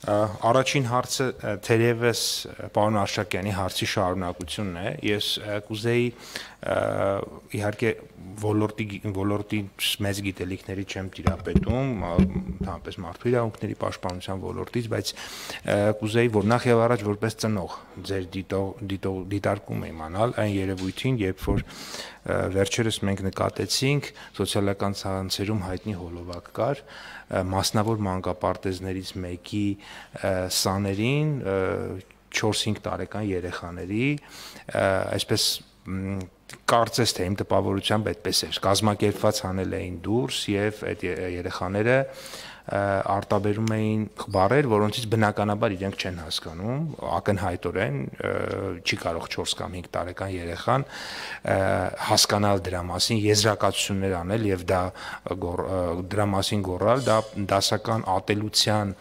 Առաջին հարցը թերևս պարոն Արշակյանի հարցի շարունակությունն է։ Ես կուզեի իհարկե ոլորտի մեծ գիտելիքների չեմ տիրապետում, ընդհանրապես մարդու իրավունքների պաշտպանության ոլորտից, բայց կուզեի, որ նախ եւ առաջ որպես ծնող ձեր դիտարկում իմանալ այն երևույթին, երբ որ վերջերս մենք նկատեցինք սոցիալական ցանցերում հայտնի հոլովակ կար մասնավոր մանկապարտեզներից մեկի սաներին 4-5 տարեկան երեխաների, այսպես կարծես թե իմ տպավորությամբ այդպես էր, կազմակերպված հանել էին դուրս եւ այդ երեխաները արտաբերում էին բառեր, որոնցից բնականաբար իրենք չեն հասկանում, ակնհայտորեն չի կարող 4 կամ 5 տարեկան երեխան հասկանալ դրա մասին, եզրակացություններ անել եւ դրա մասին գոռալ, դա դասական ատելության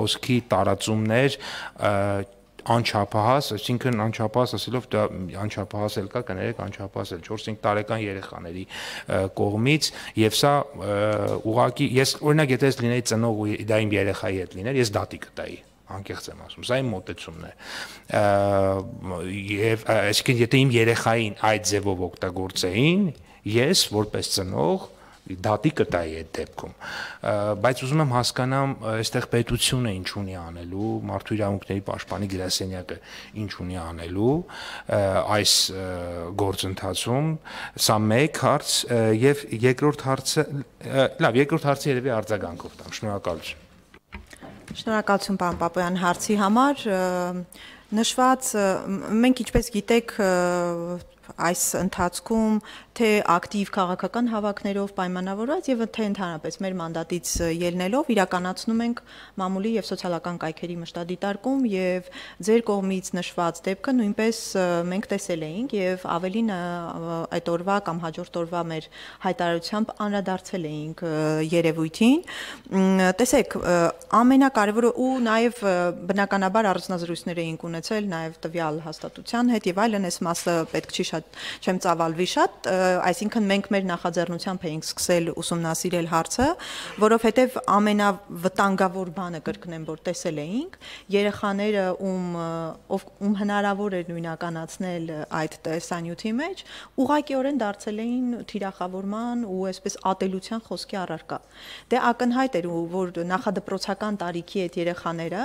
խոսքի տարածումներ անչափահաս, այսինքն անչափահաս ասելով դա անչափահաս էլ կա, կներեք անչափահաս էլ 4-5 տարեկան երեխաների կողմից եւ սա ուղղակի ես օրինակ եթե ես լինեի ծնող ու դա իմ երեխայի հետ լիներ, ես դատի կտայի անկեղծ եմ ասում, սա իմ մոտեցումն է եւ այսինքն եթե իմ երեխային այդ ձևով օգտագործեին, ես որպես ծնող դատի կտայի այդ դեպքում, բայց ուզում եմ հասկանամ այստեղ պետությունը ինչ ունի անելու, մարդու իրավունքների պաշտպանի գրասենյակը ինչ ունի անելու այս գործընթացում, սա մեկ հարց եւ երկրորդ հարցը, լավ, երկրորդ հարցը երևի արձագանքով տամ, շնորհակալություն։ Շնորհակալություն պարոն Պապոյան հարցի համար, նշված մենք ինչպես գիտեք այս ընթացքում թե ակտիվ քաղաքական հավաքներով պայմանավորված եւ թե ընդհանրապես մեր մանդատից ելնելով իրականացնում ենք մամուլի եւ սոցիալական կայքերի մշտադիտարկում եւ ձեր կողմից նշված դեպքը նույնպես մենք տեսել էինք եւ ավելին այդ օրվա կամ հաջորդ օրվա մեր հայտարարությամբ անդրադարձել էինք երևույթին տեսեք ամենակարևորը ու նաեւ բնականաբար առանձնազրույցներ էինք ունեցել նաեւ տվյալ հաստատության հետ եւ այլն այս մասը պետք չի շատ չեմ ծավալվի շատ այսինքն մենք մեր նախաձեռնությամբ էինք սկսել ուսումնասիրել հարցը, որովհետև ամենավտանգավոր բանը կրկնեմ, որ տեսել էինք, երեխաները ում հնարավոր էր նույնականացնել այդ տեսանյութի մեջ, ուղղակիորեն դարձել էին թիրախավորման ու այսպես ատելության խոսքի առարկա։ Դե ակնհայտ էր, որ նախադպրոցական տարիքի այդ երեխաները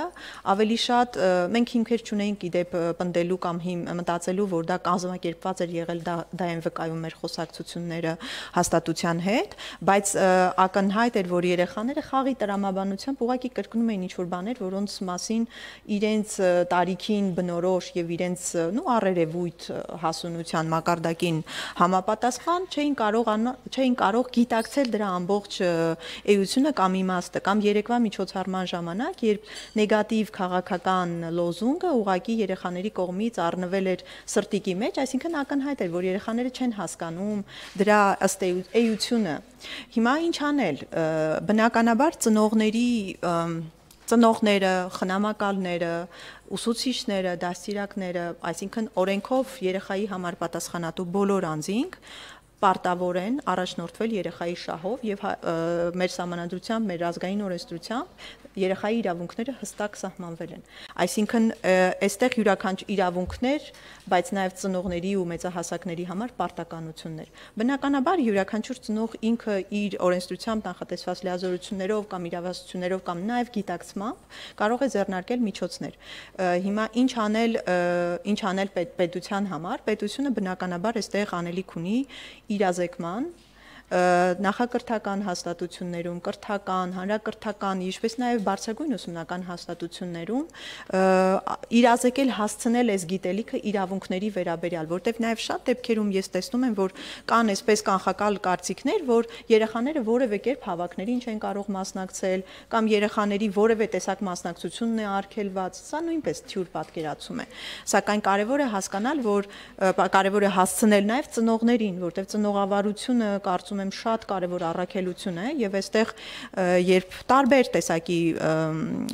ավելի շատ մենք հիմքեր չունեինք իդեպ պնդելու կամ մտածելու, որ դա կազմակերպված էր եղել դա են վկայում մեր խոսակցությունները հաստատության հետ, բայց ակնհայտ էր, որ երեխաները խաղի տրամաբանությամբ ուղղակի կրկնում էին ինչ-որ բաներ, որոնց մասին իրենց տարիքին բնորոշ եւ իրենց առերևույթ հասունության մակարդակին համապատասխան չէին կարող գիտակցել դրա ամբողջ էությունը կամ իմաստը կամ երեկվա միջոցառման ժամանակ, երբ նեգատիվ քաղաքական լոզունգը ուղղակի երեխաների կողմից առնվել էր սրտիկի մեջ, այսինքն ակնհայտ էր, որ երեխաները չեն հասկանում դրա ըստ էությունը։ Հիմա ինչ անել։ Բնականաբար ծնողները, խնամակալները, ուսուցիչները, դաստիարակները, այսինքն օրենքով երեխայի համար պատասխանատու բոլոր անձինք պարտավոր են առաջնորդվել երեխայի շահով եւ մեր սահմանադրությամբ, մեր ազգային օրենսդրությամբ երեխայի իրավունքները հստակ սահմանվել են։ Այսինքն այստեղ յուրաքանչյուր իրավունքներ, բայց նաեւ ծնողների ու մեծահասակների համար պարտականություններ։ Բնականաբար յուրաքանչյուր ծնող ինքը իր օրենսդրությամբ նախատեսված լիազորություններով կամ իրավասություններով կամ նաեւ գիտակցմամբ կարող է ձեռնարկել միջոցներ։ Հիմա ինչ անել պետության համար։ Պետությունը բնականաբար այստեղ անելիք ունի իրազեկման նախակրթական հաստատություններում, կրթական, հանրակրթական, ինչպես նաև բարձրագույն ուսումնական հաստատություններում իրազեկել հասցնել այս գիտելիքը իրավունքների վերաբերյալ, որտեղ նաև շատ դեպքերում ես տեսնում եմ, որ կան այսպես կանխակալ կարծիքներ, որ երեխաները որևէ կերպ հավաքներին չեն կարող մասնակցել կամ երեխաների որևէ տեսակ մասնակցությունն է արգելված, սա նույնպես թյուր պատկերացում է։ Սակայն կարևոր է հասկանալ, որ կարևոր է հասցնել նաև ծնողներին, որտեղ ծնողավարությունը կարծում կարծում եմ շատ կարևոր առաքելություն է եւ այստեղ երբ տարբեր տեսակի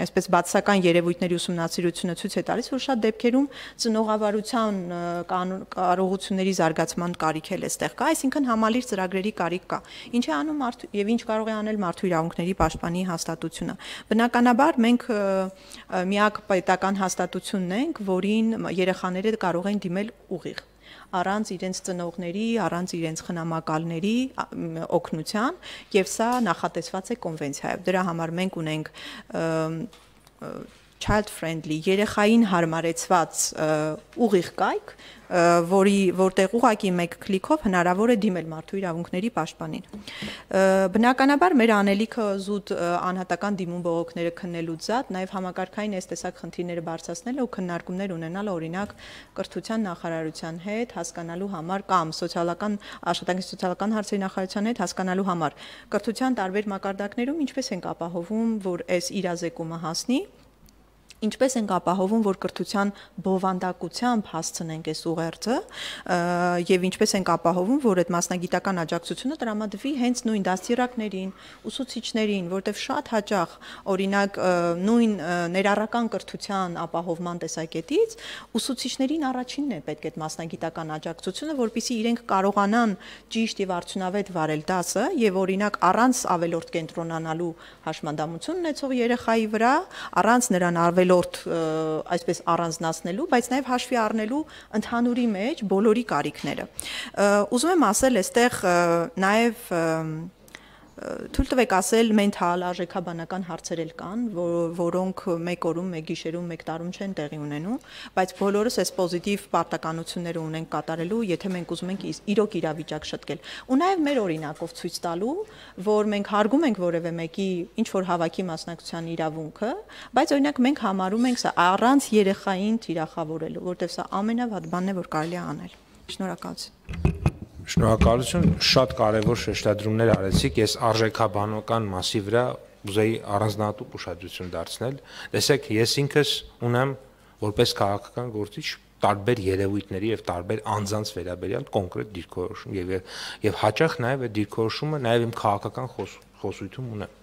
այսպես բացասական երևույթների ուսումնասիրությունը ցույց է տալիս, որ շատ դեպքերում ծնողավարության կարողությունների զարգացման կարիք էլ այստեղ կա, այսինքն համալիր ծրագրերի կարիք կա։ Ինչ է անում եւ ինչ կարող է անել մարդու իրավունքների պաշտպանի հաստատությունը։ Բնականաբար մենք միակ պետական հաստատությունն ենք, որին երեխաները կարող են դիմել ուղիղ, առանց իրենց ծնողների, առանց իրենց խնամակալների օգնության, եւ սա նախատեսված է կոնվենցիայով։ Դրա համար մենք ունենք child friendly երեխային հարմարեցված ուղիղ կայք, որտեղ ուղղակի մեկ քլիքով հնարավոր է դիմել մարդու իրավունքների պաշտպանին։ Բնականաբար մեր անելիքը զուտ անհատական դիմում բողոքները քննելուց զատ նաև համակարգային այս տեսակ խնդիրները բարձրացնել ու քննարկումներ ունենալ օրինակ կրթության նախարարության հետ հասկանալու համար կամ աշխատանքի սոցիալական հարցերի նախարարության հետ հասկանալու համար կրթության տարբեր մակարդակներում ինչպես ենք ապահովում, որ այս իրազեկումը հասնի, ինչպես ենք ապահովում, որ կրթության բովանդակությամբ հասցնենք այս ուղերձը եւ ինչպես ենք ապահովում, որ այդ մասնագիտական աջակցությունը տրամադրվի հենց նույն դաստիարակներին, ուսուցիչներին, որտեղ շատ հաճախ օրինակ նույն ներառական կրթության ապահովման տեսակետից ուսուցիչներին առաջինն է պետք այդ մասնագիտական աջակցությունը, որպեսզի իրենք կարողանան ճիշտ եւ արդյունավետ վարել դասը եւ օրինակ առանց ավելորդ կենտրոնանալու հաշմանդամություն ունեցող երեխայի վրա, առանց նրան այսպես առանձնացնելու, բայց նաև հաշվի առնելու ընդհանուրի մեջ բոլորի կարիքները։ Ուզում եմ ասել, այստեղ նաև թույլ տվեք ասել, մենթալ արժեքաբանական հարցեր էլ կան, որոնք մեկ օրում, մեկ գիշերում, մեկ տարում չեն տեղի ունենում, բայց բոլորս այս պոզիտիվ պարտականությունները ունենք կատարելու, եթե մենք ուզում ենք իրոք իրավիճակ շտկել։ Ու նաև մեր օրինակով ցույց տալու, որ մենք հարգում ենք որևէ մեկի ինչ որ հավաքի մասնակցության իրավունքը, բայց օրինակ մենք համարում ենք սա առանց երեխային թիրախավորելու, որտեղ սա ամենավատ բանն է, որ կարելի է անել։ Շնորհակալություն։ Շնորհակալություն, շատ կարևոր շեշտադրումներ արեցիք, ես արժեքաբանական մասի վրա ուզեի առանձնահատուկ ուշադրություն դարձնել, տեսեք, ես ինքս ունեմ որպես քաղաքական գործիչ տարբեր երևույթների եւ տարբեր անձանց վերաբերյալ կոնկրետ դիրքորոշում եւ հաճախ նաեւ այդ դիրքորոշումը նաեւ իմ քաղաքական խոսույթում ունեմ,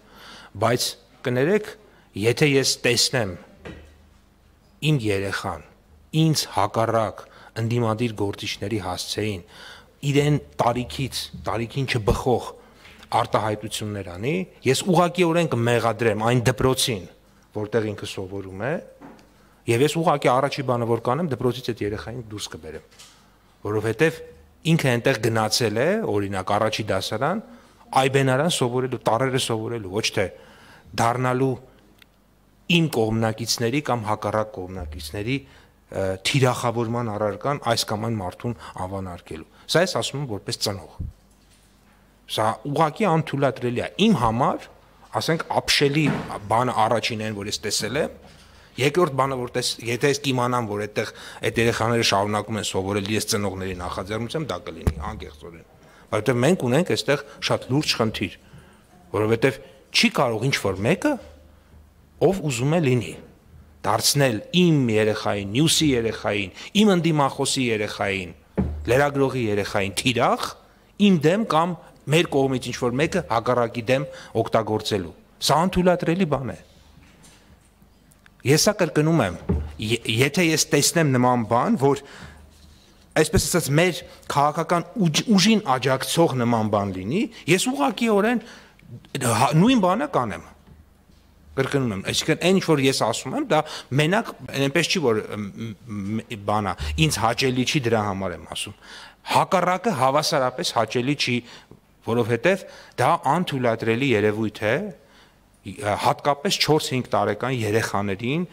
բայց կներեք, եթե ես տեսնեմ իմ երեխան ինձ հակառակ ընդդիմադիր գործիչների հասցեին իրեն տարիքին չբխող արտահայտություններ անի, ես ուղղակիորեն կմեղադրեմ այն դպրոցին, որտեղ ինքը սովորում է, եւ ես ուղղակի առաջի բանը որ կանեմ, դպրոցից այդ երեխային դուրս կբերեմ, որովհետեւ ինքը այնտեղ գնացել է, օրինակ առաջի դասարան, այբենարան սովորելու, տարերը սովորելու, ոչ թե դառնալու իմ կողմնակիցների կամ հակառակ կողմնակիցների թիրախավորման առարկան այս կամ այն մարդուն անվանարկելու։ Սա ես ասում եմ որպես ծնող։ Սա ուղղակի անթույլատրելի է։ Իմ համար, ասենք, ապշելի բանը առաջինն են, որ ես տեսել եմ, երկրորդ բանը, որ եթե ես կիմանամ, որ այդտեղ այդ երեխաները շարունակում են սովորել, ես ծնողների նախաձեռնությամբ դա կլինի անկեղծորեն։ Որովհետև մենք ունենք այստեղ շատ լուրջ խնդիր, որովհետև չի կարող ինչ-որ մեկը, ով ուզում է լինի, դարձնել իմ երեխային, մյուսի երեխային, իմ ընդդիմախոսի երեխային, լրագրողի երեխային թիրախ, իմ դեմ կամ մեր կողմից ինչ-որ մեկը հակառակի դեմ օգտագործելու։ Սա անթույլատրելի բան է։ Ես սա կրկնում եմ, եթե ես տեսնեմ նման բան, որ այսպես ասած մեր քաղաքական ուժին աջակցող նման բան լինի, ես ուղղակիորեն նույն բանը կանեմ։ Կրկնում եմ, այսինքն այն ինչ որ ես ասում եմ, դա մենակ այնպես չի որ բանա, ինձ հաճելի չի դրա համար եմ ասում։ Հակառակը հավասարապես հաճելի չի, որովհետև դա անթույլատրելի երևույթ է, հատկապես 4-5 տարեկան երեխաներին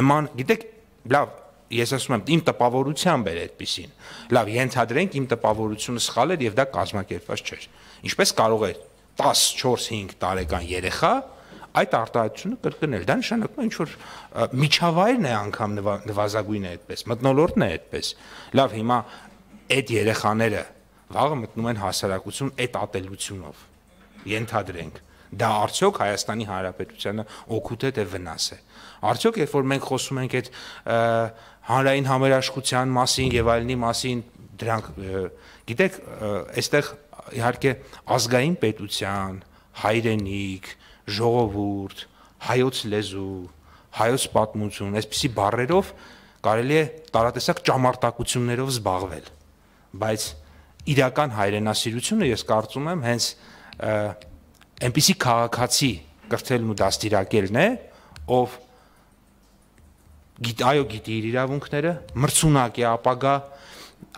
նման, գիտեք, լավ, ես ասում եմ, իմ տպավորությամբ էր այդպիսին։ Լավ, ենթադրենք իմ տպավորությունը սխալ էր եւ դա կազմակերպված չէր։ Ինչպես կարող է 10-4-5 տարեկան երեխա այդ արտահայտությունը կրկնել, դա նշանակում է ինչ-որ միջավայրն է անգամ նվազագույնը այդպես, մթնոլորտն է այդպես։ Լավ, հիմա այդ երեխաները վաղը մտնում են հասարակություն այդ ատելությունով, ենթադրենք, դա արդյոք Հայաստանի Հանրապետությանը օգուտ է թե վնաս է։ Արդյոք երբ որ մենք խոսում ենք այդ հանրային համերաշխության մասին եւ այլնի մասին, դրանք գիտեք, այստեղ իհարկե ազգային պետության, հայրենիք, ժողովուրդ, հայոց լեզու, հայոց պատմություն, այսպիսի բառերով կարելի է տարատեսակ ճամարտակություններով զբաղվել, բայց իրական հայրենասիրությունը ես կարծում եմ հենց այնպիսի քաղաքացի կրթելն ու դաստիարակելն է, ով գիտի իր իրավունքները, մրցունակ է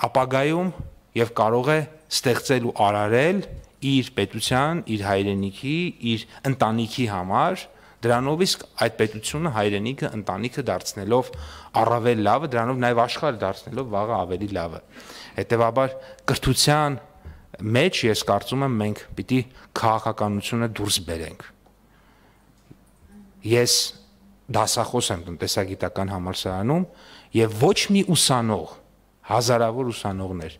ապագայում եւ կարող է ստեղծել ու արարել իր պետության, իր հայրենիքի, իր ընտանիքի համար, դրանով իսկ այդ պետությունը, հայրենիքը, ընտանիքը դարձնելով առավել լավը, դրանով նաեւ աշխարհը դարձնելով վաղը ավելի լավը։ Հետևաբար կրթության մեջ ես կարծում եմ մենք պիտի քաղաքականությունը դուրս բերենք։ Ես դասախոս եմ տնտեսագիտական համալսարանում եւ ոչ մի ուսանող, հազարավոր ուսանողներ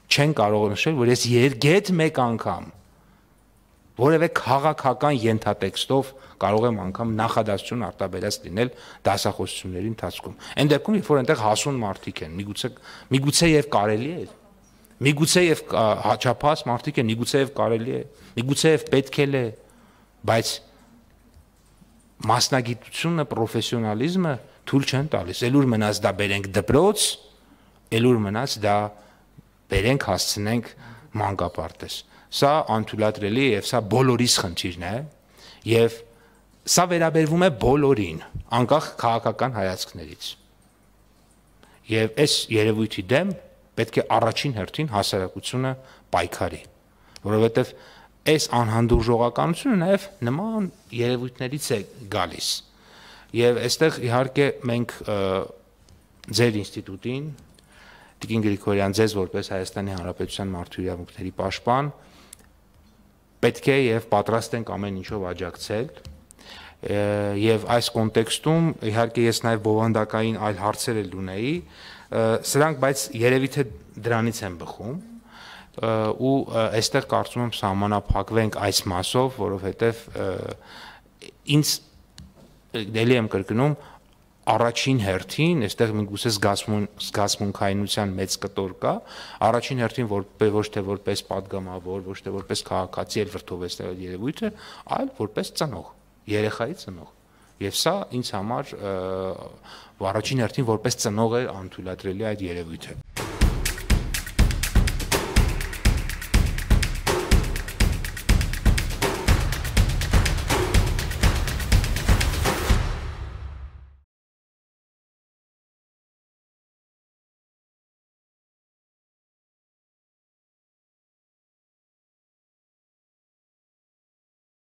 չեն կարող նշել, որ ես երգետ մեկ անգամ որևէ քաղաքական ենթատեքստով կարող եմ անգամ նախադասություն արտաբերած լինել դասախոսությունների ընթացքում։ Այն դեպքում, երբ որ այնտեղ հասուն մարդիկ են, միգուցե եւ կարելի է, միգուցե եւ հաճափած մարդիկ են, միգուցե եւ կարելի է, միգուցե եւ պետք է, բայց մասնագիտությունը, պրոֆեսիոնալիզմը թույլ չեն տալիս։ Էլուր մնաց դա բերենք դպրոց, էլուր մնաց դա բերենք հասցնենք մանկապարտեզ։ Սա անթույլատրելի է եւ սա բոլորիս խնդիրն է եւ սա վերաբերվում է բոլորին, անկախ քաղաքական հայացքներից։ Եվ այս երևույթի դեմ պետք է առաջին հերթին հասարակությունը պայքարի, որովհետեւ այս անհանդուրժողականությունը նաև նման երևույթներից է գալիս։ Եվ այստեղ իհարկե մենք ձեր ինստիտուտին, Տիկին Գրիգորյան, ձեզ որպես Հայաստանի Հանրապետության մարդու իրավունքների պաշտպան, պետք է եւ պատրաստ ենք ամեն ինչով աջակցել։ Եվ այս կոնտեքստում իհարկե ես նաև բովանդակային այլ հարցեր էլ ունեի, սրանք բայց երևի թե դրանից են բխում ու այստեղ կարծում եմ սահմանափակվենք այս մասով, որովհետև ինձ դելի եմ կրկնում առաջին հերթին, այստեղ միգուցե զգացմունքայնության մեծ կտոր կա, առաջին հերթին ոչ թե որպես պատգամավոր, ոչ թե որպես քաղաքացի էլ վրդովեցնել այդ երևույթը, այլ որպես ծնող, երեխայի ծնող։ Եվ սա ինձ համար առաջին հերթին որպես ծնող է անթույլատրելի այդ երևույթը։